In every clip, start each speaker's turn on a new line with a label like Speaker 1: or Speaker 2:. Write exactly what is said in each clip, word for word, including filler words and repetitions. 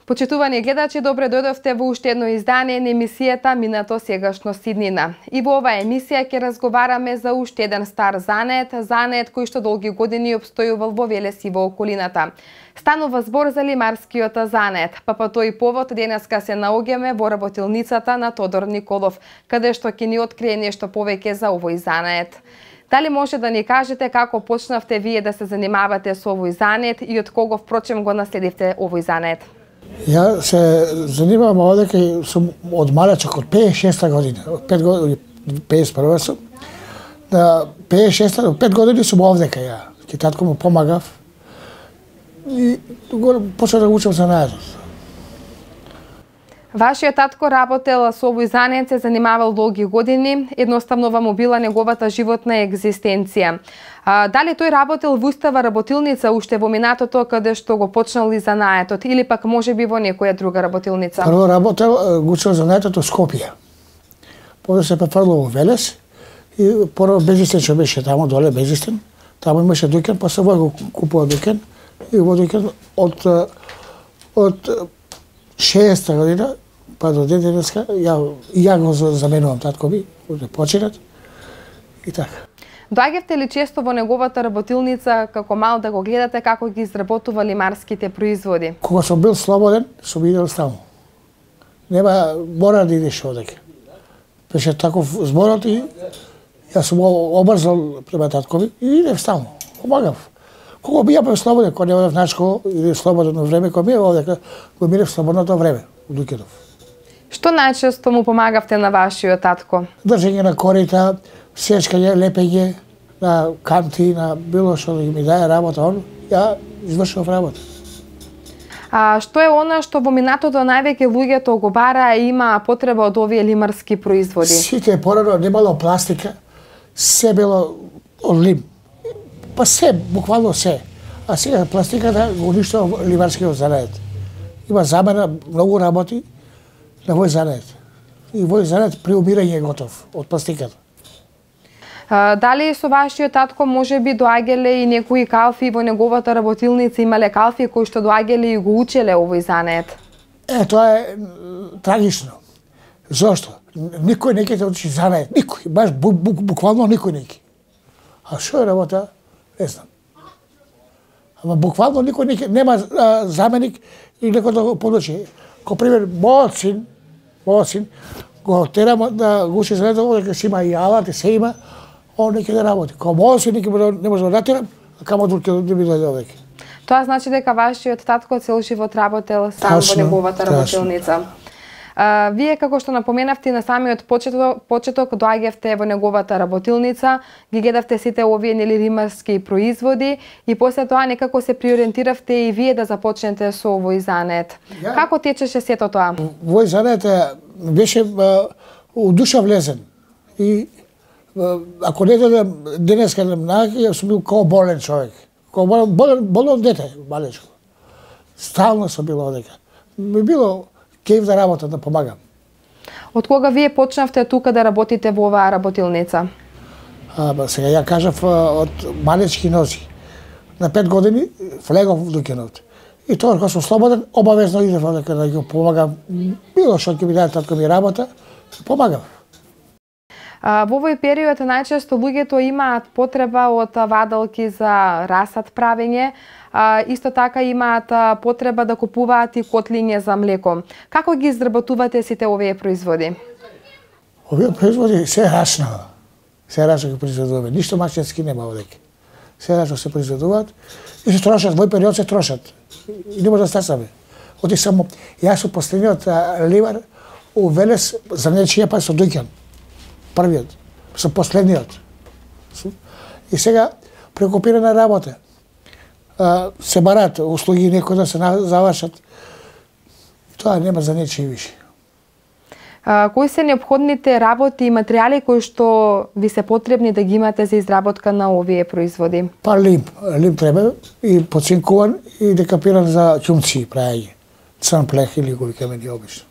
Speaker 1: Почитувани гледачи, добре дојдовте во уште едно издание на емисијата Минато сегашно Сиднина. И во оваа емисија ќе разговараме за уште еден стар занет, занет кој што долги години обстојувал во Велес и во околината. Станува збор за лимарскиот занет, па по тој повод денеска се наоѓаме во работилницата на Тодор Николов, каде што ќе ни открие нешто повеќе за овој занет. Дали може да ни кажете како почнавте вие да се занимавате со овој занет и од кого впрочем го наследивте овој занет?
Speaker 2: Ја се занимавам одека сум од малечок, од пеесет и шеста година, од пет години, пеесет и прва сум. На пеесет и шеста, пет години сум овдека ја. Ке татко му помагав и почнав да учам занаедот.
Speaker 1: Вашиот татко работел со овој занет, се занимавал долги години, едноставно вам била неговата животна екзистенција. А, дали тој работел во устава работилница уште во минатото каде што го почнал и занаетот или пак можеби во некоја друга работилница?
Speaker 2: Прво работел, го учел занаетот во Скопје. После се префрло во Велес и прво Безистен што беше таму доле, Безистен. Таму имаше дуќан, па се во купува дуќан и во дуќан од од шеста година па до ден денеска ја ја го заменувам татко ми, да починат и така.
Speaker 1: Доаѓавте ли често во неговата работилница како мал да го гледате како ги изработува лимарските производи?
Speaker 2: Кога сум бил слободен, сум идел таму. Нема мора да идеш одека. Беше таков зборот и јас сум обрзал према татко ми и идев таму. Помагав. Кога би ја бев слободен, кога не одев на школа или слободно време, кога ми е овдека, го минев слободното време у Дуќанов.
Speaker 1: Што најчесто му помагавте на вашиот татко?
Speaker 2: Држење на корита, сечкање, лепење на канти, на било што да ми даде работа, он ја извршував работа.
Speaker 1: А што е она што во минатото највеќе луѓето го бара и има потреба од овие лимарски производи?
Speaker 2: Сите порано немало пластика, се било од лим. Па се, буквално се. А сега пластиката го уништува лимарскиот занет. Има замена, многу работи на овој занет. И овој занет при умирање е готов од пластиката.
Speaker 1: А, дали со вашиот татко можеби доаѓале и некои калфи во неговата работилница, имале калфи кои што доаѓале и го учеле овој занет?
Speaker 2: Е, тоа е трагично. Зошто? Никој не ќе те учи занет, никој, баш бу, бу, буквално никој не ќе. А што е работа? Не знам. Ама буквално никој не ќе, нема а, заменик и некој да го подучи. Ко пример, мојот син, мојот син, го терам да го учи занетот, дека си има и алат, и се има, он не ќе да работи. Ко мојот син не може да натерам, а камо друг ќе да ми дојде овеќе.
Speaker 1: Тоа значи дека вашиот татко цел живот работел сам во неговата работилница. А, вие, како што напоменавте на самиот почеток, почеток доаѓавте во неговата работилница, ги гледавте сите овие нели лимарски производи и после тоа некако се приориентиравте и вие да започнете со овој занет. Ja. Како течеше сето тоа?
Speaker 2: Овој занет беше у душа влезен и ако не додам денеска на најаки, сум бил као болен човек. Као болен, болен, болен дете, малечко. Стално сум бил одека. Ми било кејф да работам, да помагам.
Speaker 1: Од кога вие почнавте тука да работите во оваа работилница?
Speaker 2: А, ба, сега ја кажав од малечки нози. На пет години влегов во Дуќанов. И тоа кога сум слободен, обавезно идев одека да ги помагам. Било што ќе ми даде татко ми работа, помагам.
Speaker 1: А, во овој период најчесто луѓето имаат потреба од вадалки за расад правење, а, исто така имаат потреба да купуваат и котлиња за млеко. Како ги изработувате сите овие производи?
Speaker 2: Овие производи се рачно. Се рачно ги производуваме. Ништо машински нема овдека. Се рачно се производуваат и се трошат. Во период се трошат. И не може да стасаме. Оти само, јас сум последниот ливар у Велес за нечија па со Дуќан. Првиот, со последниот. И сега прекопирана работа. Се барат услуги некои да се завршат. Тоа нема за нечија више.
Speaker 1: А, кои се неопходните работи и материјали кои што ви се потребни да ги имате за изработка на овие производи?
Speaker 2: Па лим, лим треба и поцинкуван и декапиран за ќумци прајање. Црн плех или го викаме ние обично.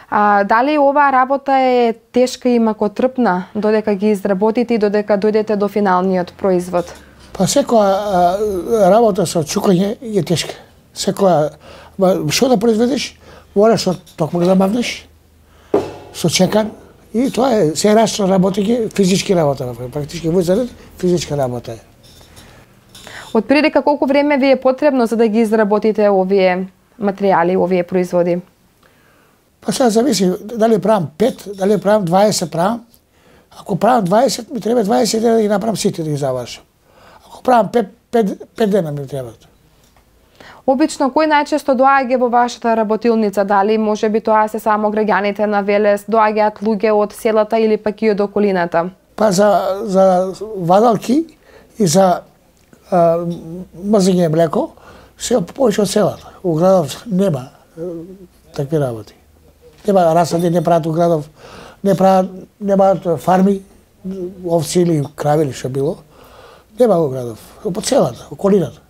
Speaker 1: А, дали оваа работа е тешка и макотрпна додека ги изработите и додека дојдете до финалниот производ?
Speaker 2: Па секоја работа со чукање е тешка. Секоја, што да произведеш, мораш што токмак да мавнеш, со чекан, и тоа е, се рачно работење, физички работа, практички во заред, физичка работа е.
Speaker 1: Од прилика колку време ви е потребно за да ги изработите овие материјали, овие производи?
Speaker 2: Па сега зависи дали правам пет, дали правам дваесет правам. Ако правам дваесет, ми треба дваесет дена да ги направам сите да ги завршам. Ако правам пет дена ми требаат.
Speaker 1: Обично, кој најчесто доаѓа во вашата работилница? Дали може би тоа се само граѓаните на Велес, доаѓаат луѓе од селата или пак и од околината?
Speaker 2: Па за, за вадалки и за а, мрзење млеко, се повеќе од селата. У градов нема такви работи. Нема расади, не прават у градов, не прават, немаат фарми, овци или крави или што било. Нема у градов, по селата, околината.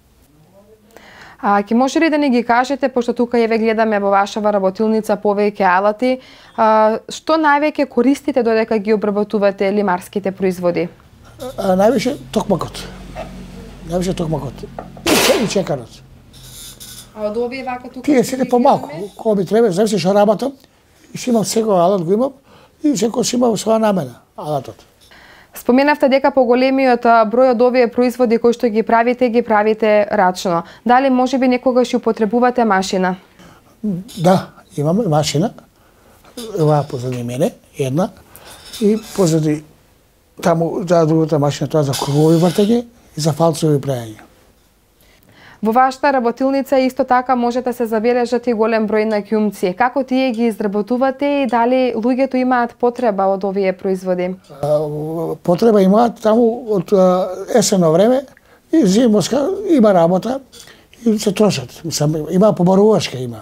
Speaker 1: А ќе може ли да ни ги кажете, пошто тука ја ве гледаме во вашава работилница повеќе алати, а, што највеќе користите додека ги обработувате лимарските производи?
Speaker 2: А, највише токмакот. Највише токмакот. И чеканот.
Speaker 1: А од овие вака тука?
Speaker 2: Тие се помалку, кога ми треба, зависи што работам, и си имам секој алат го имам, и секој си имам своја намена, алатот.
Speaker 1: Споменавте дека поголемиот број од овие производи кои што ги правите, ги правите рачно. Дали можеби некогаш употребувате машина?
Speaker 2: Да, имаме машина. Ова позади мене, една. И позади таму, за другата машина, тоа за кругови вртење и за фалцови правење.
Speaker 1: Во вашата работилница исто така може да се забележат и голем број на ќумци. Како тие ги изработувате и дали луѓето имаат потреба од овие производи?
Speaker 2: Потреба имаат таму од есенно време и зимоска има работа и се трошат. Има побарувачка има.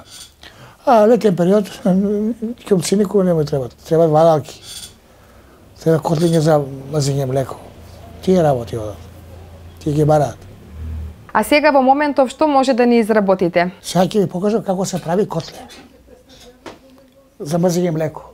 Speaker 2: А летен период ќумци никога не му требат. Требат вадалки. Треба котлиња за мазење млеко. Тие работи одат. Тие ги бараат.
Speaker 1: А сега во моментов што може да ни изработите?
Speaker 2: Сега ќе ви покажам како се прави котле за мрзење млеко.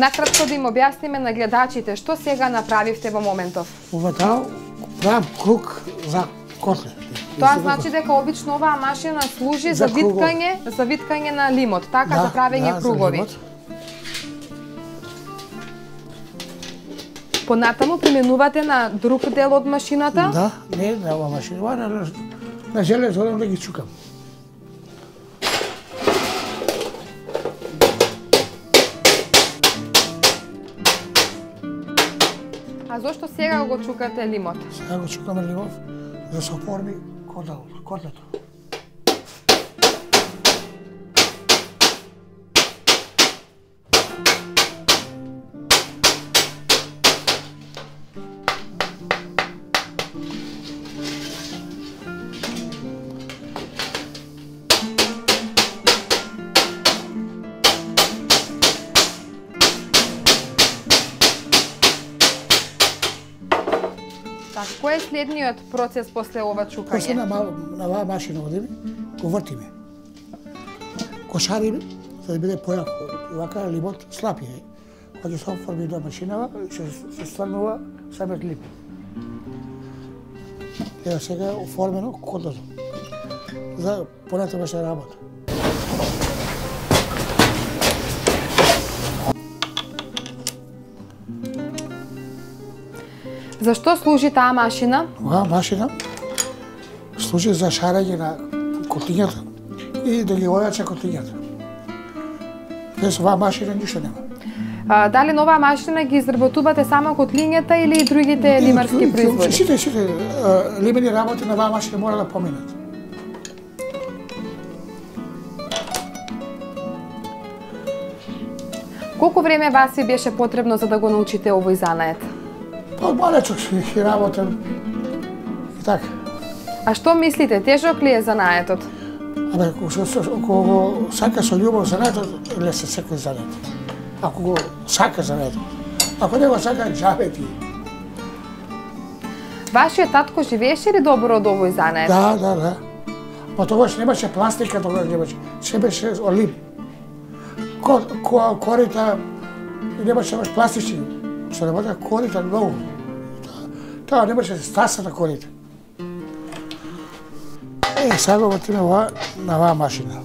Speaker 1: Накратко да им објасниме на гледачите што сега направивте во моментов.
Speaker 2: Ова таа правам круг за котле.
Speaker 1: Тоа значи дека обично оваа машина служи за, за виткање, за виткање на лимот, така да, за правење да, кругови. Понатаму применувате на друг дел од машината?
Speaker 2: Да, не на оваа машина, на, на железо да ги чукам.
Speaker 1: А зошто сега го чукате лимот?
Speaker 2: Сега го чукаме лимот да се оформи котлето.
Speaker 1: Кој е следниот процес после ова чукање?
Speaker 2: После на, на оваа машина одиме, го вртиме. Го шариме, за да биде појако. И вака лимот слаб е. Кога се оформи до машинава, се, се стварнува самиот лим. Ева сега е оформено котлето. За понатаму се работа.
Speaker 1: Зашто служи таа машина?
Speaker 2: Оваа машина служи за шарење на котлињата и да ги ојача котлињата. Без оваа машина ништо нема.
Speaker 1: А, дали на оваа машина ги изработувате само котлињата или и другите лимарски производи?
Speaker 2: Сите, сите лимени работи на оваа машина мора да поминат.
Speaker 1: Колку време вас ви беше потребно за да го научите овој занает?
Speaker 2: Па малечок си работам и така.
Speaker 1: А што мислите, тежок ли е занаетот?
Speaker 2: Абе, ако го сака со љубов занаетот, лесно секој занает. Ако го сака занаетот. Ако не го сака, џабе ти.
Speaker 1: Вашиот татко живееше ли добро од овој занает?
Speaker 2: Да, да, да. Па тогаш немаше пластика, тогаш немаше. Се беше олип. Ко, ко, корита, немаше баш пластични. Што работа корита многу. Тоа немаше стаса на корита. Е, сега го вртиме на оваа машина.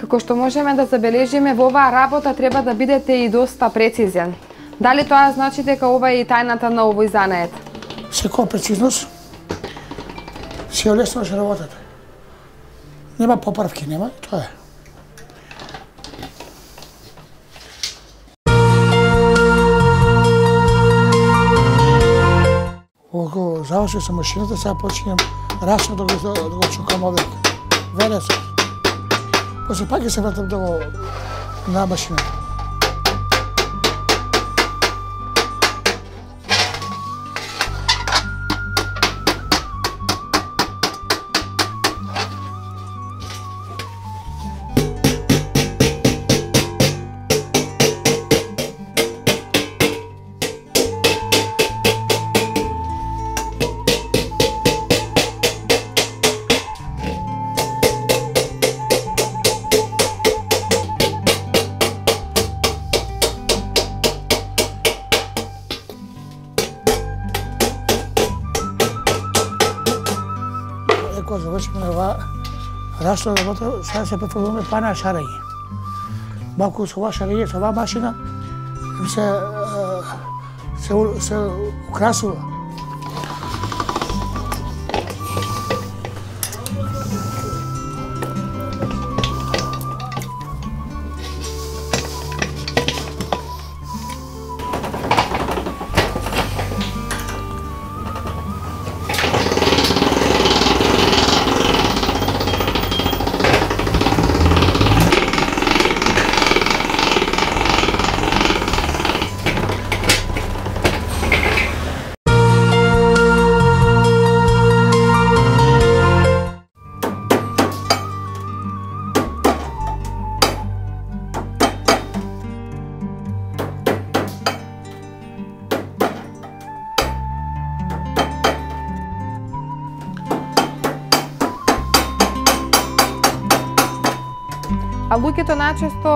Speaker 1: Како што можеме да забележиме, во оваа работа треба да бидете и доста прецизен. Дали тоа значи дека ова е и тајната на овој занает?
Speaker 2: Секоја прецизност се олеснуваш работата. Нема поправки, нема, тоа е. Кога заврши со машината, сега починам расно да го, да го чукам овек. Венецот. После пак се вратам да го на машината. Кога завршиме на оваа расно работа, сега се префрлуваме па на шарење. Малку со оваа шарење, со оваа машина, се, се, се украсува.
Speaker 1: А луѓето најчесто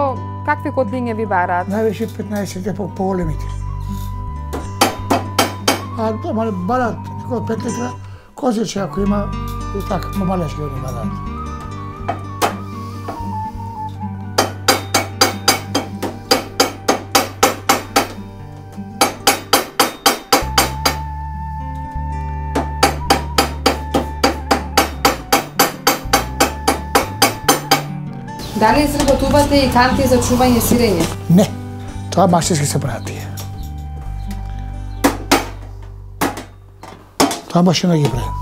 Speaker 1: какви котлиња ви бараат?
Speaker 2: Највеќе петнаесет по поголемите. А дома бараат некој пет литра, козиче ако има и така, помалешки они бараат.
Speaker 1: Дали изработувате и канти за чување сирење?
Speaker 2: Не, тоа машински се прави тие. Тоа машина ги прави.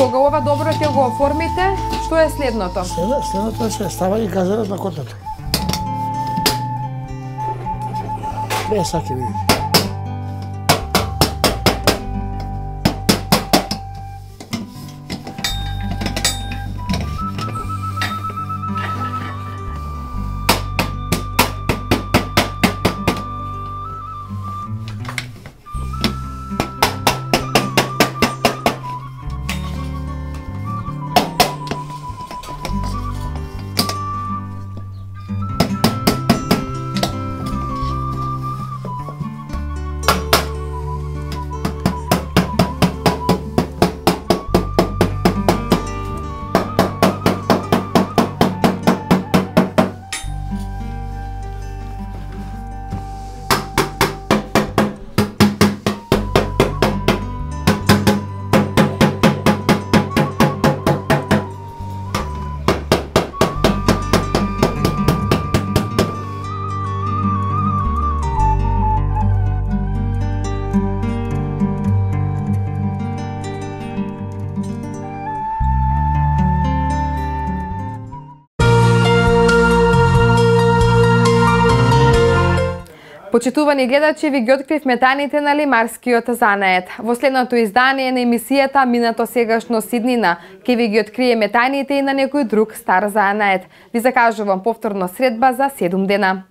Speaker 1: Кога ова добро ќе го оформите, што е следното?
Speaker 2: Следното е става и газерот на котлето. Бе, саки видите.
Speaker 1: Почитувани гледачи, ви ги откривме тајните на лимарскиот занает. Во следното издание на емисијата Минато сегашно сиднина ќе ви ги откриеме тајните и на некој друг стар занает. Ви закажувам повторно средба за седум дена.